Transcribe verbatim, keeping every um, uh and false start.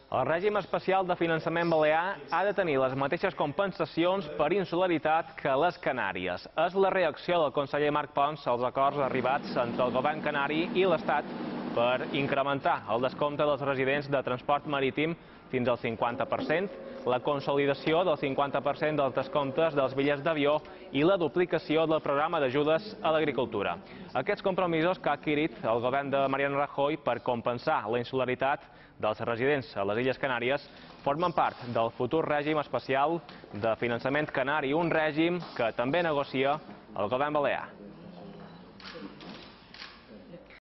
El règim especial de finançament balear ha de tenir les mateixes compensacions per insularitat que les Canàries. És la reacció del conseller Marc Pons als acords arribats entre el govern canari i l'Estat per incrementar el descompte dels residents de transport marítim fins al cinquanta per cent, la consolidació del cinquanta per cent dels descomptes dels bitllets d'avió i la duplicació del programa d'ajudes a l'agricultura. Aquests compromisos que ha adquirit el govern de Mariano Rajoy per compensar la insularitat dels residents a les Illes Canàries formen part del futur règim especial de finançament canari, un règim que també negocia el govern balear.